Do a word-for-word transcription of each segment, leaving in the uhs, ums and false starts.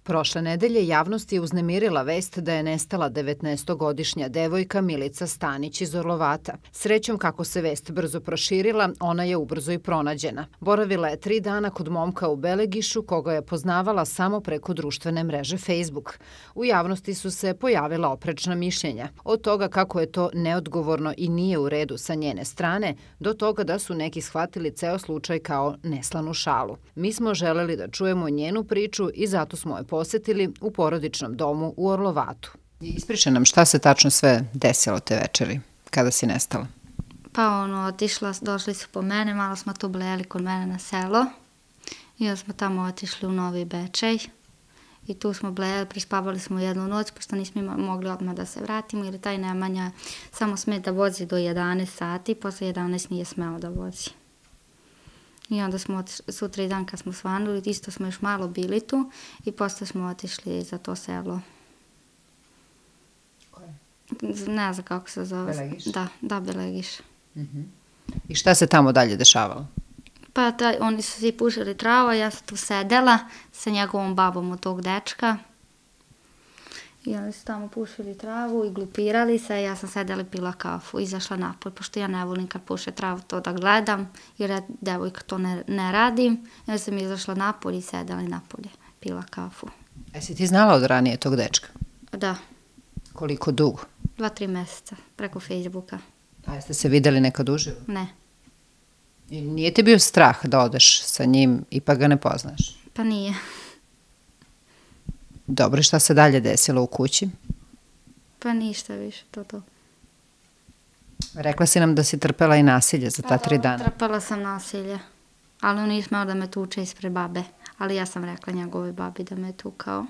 Prošle nedelje javnost je uznemirila vest da je nestala devetnaestogodišnja devojka Milica Stanić iz Orlovata. Srećom, kako se vest brzo proširila, ona je ubrzo i pronađena. Boravila je tri dana kod momka u Belegišu, koga je poznavala samo preko društvene mreže Facebook. U javnosti su se pojavila oprečna mišljenja. Od toga kako je to neodgovorno i nije u redu sa njene strane, do toga da su neki shvatili ceo slučaj kao neslanu šalu. Mi smo želeli da čujemo njenu priču i zato smo je posetili u porodičnom domu u Orlovatu. Ispričaj nam šta se tačno sve desilo te večeri, kada si nestala. Pa ono, otišla, došli su po mene, malo smo tu blejali kod mene na selo i onda smo tamo otišli u Novi Bečej i tu smo blejali, prespavali smo jednu noć, pošto nismo mogli odmah da se vratimo jer taj Nemanja samo sme da vozi do jedanaest sati, posle jedanaest nije smeo da vozi. I onda smo sutra i dan kad smo svanuli, isto smo još malo bili tu i posle smo otišli za to selo. Koje? Ne znam kako se zove. Belegiš? Da, da, Belegiš. I šta se tamo dalje dešavalo? Pa taj, oni su svi pušili travu, a ja sam tu sedela sa njegovom babom od tog dečka. I oni su tamo pušili travu i glupirali se, ja sam sedela i pila kafu, izašla napolje, pošto ja ne volim kad puše travu to da gledam, jer ja devojka to ne, ne radim. I onda sam izašla napolje i sedela i napolje, pila kafu. E si ti znala od ranije tog dečka? Da. Koliko dugo? Dva, tri meseca, preko Facebooka. A jeste se videli nekad uživo? Ne. I nije ti bio strah da odeš sa njim, ipak ga ne poznaš? Pa nije. Dobro, i šta se dalje desilo u kući? Pa ništa više, to to. Rekla si nam da si trpela i nasilje za ta tri dana. Trpela sam nasilje, ali on nije smeo da me tuče ispred babe. Ali ja sam rekla njegovoj babi da me tukao.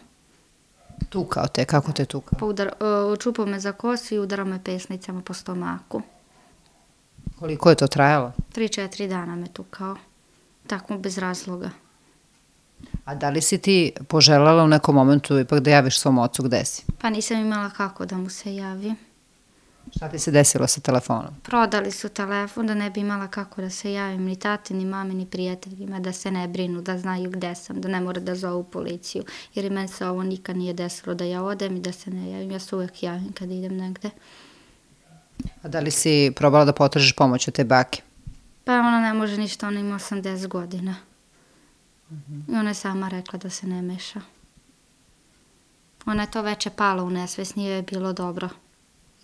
Tukao te? Kako te tukao? Pa udar, uh, čupao me za kosu i udarao me pesnicama po stomaku. Koliko je to trajalo? Tri, četiri dana me tukao. Tako bez razloga. A da li si ti poželjela u nekom momentu ipak da javiš svom ocu gde si? Pa nisam imala kako da mu se javi. Šta ti se desilo sa telefonom? Prodali su telefon da ne bi imala kako da se javim ni tati, ni mami, ni prijateljima, da se ne brinu, da znaju gde sam, da ne mora da zovu policiju. Jer i meni se ovo nikad nije desilo da ja odem i da se ne javim. Ja se uvek javim kad idem negde. A da li si probala da potražiš pomoć od te bake? Pa ona ne može ništa, ona ima osamdeset godina. I ona je sama rekla da se ne meša. Ona je to veče pala u nesvest, nije joj bilo dobro.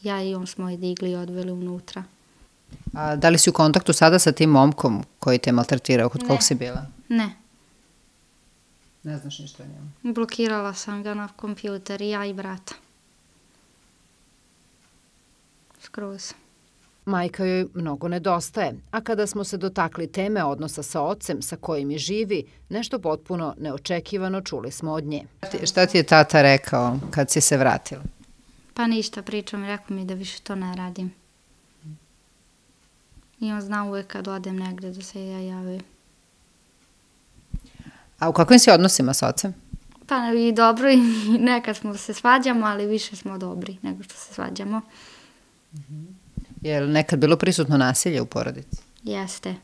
Ja i on smo je digli i odveli unutra. A da li si u kontaktu sada sa tim momkom koji te maltretirao, kod kog si bila? Ne. Ne znaš ništa o njemu? Blokirala sam ga na kompjuter i ja i brata. Skroz. Majka joj mnogo nedostaje, a kada smo se dotakli teme odnosa sa ocem sa kojim je živi, nešto potpuno neočekivano čuli smo od nje. Šta ti je tata rekao kad si se vratila? Pa ništa, pričam i rekao mi da više to ne radim. I on zna uvek kad odem negde da se ja javim. A u kakvim si odnosima s ocem? Pa i dobro i nekad smo se svađamo, ali više smo dobri nego što se svađamo. Je li nekad bilo prisutno nasilje u porodici? Jeste.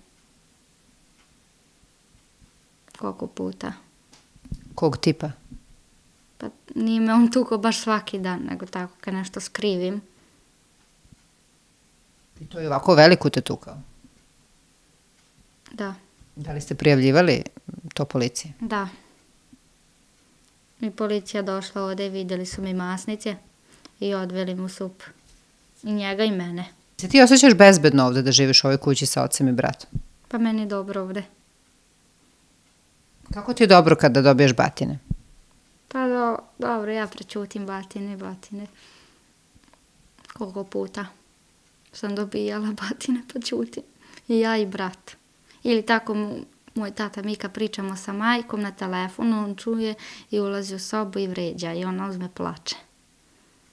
Koliko puta. Kog tipa? Pa nije me on tukao baš svaki dan, nego tako kad nešto skrivim. I to je ovako veliko te tukao? Da. Da li ste prijavljivali to policiji? Da. I policija došla ovde i videli su mi masnice i odveli mu sup. I njega i mene. Se ti osjećaš bezbedno ovde da živiš u ovoj kući sa ocem i bratom? Pa meni je dobro ovde. Kako ti je dobro kada dobiješ batine? Pa do, dobro, ja prećutim batine, batine. Koliko puta sam dobijala batine, pa ćutim. I ja i brat. Ili tako mu, moj tata Mika pričamo sa majkom na telefonu, on čuje i ulazi u sobu i vređa i ona uzme plače.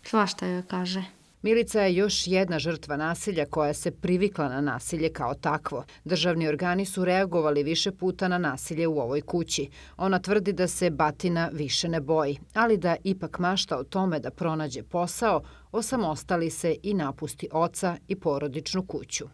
Svašta joj kaže. Milica je još jedna žrtva nasilja koja se privikla na nasilje kao takvo. Državni organi su reagovali više puta na nasilje u ovoj kući. Ona tvrdi da se batina više ne boji, ali da ipak mašta o tome da pronađe posao, osamostali se i napusti oca i porodičnu kuću.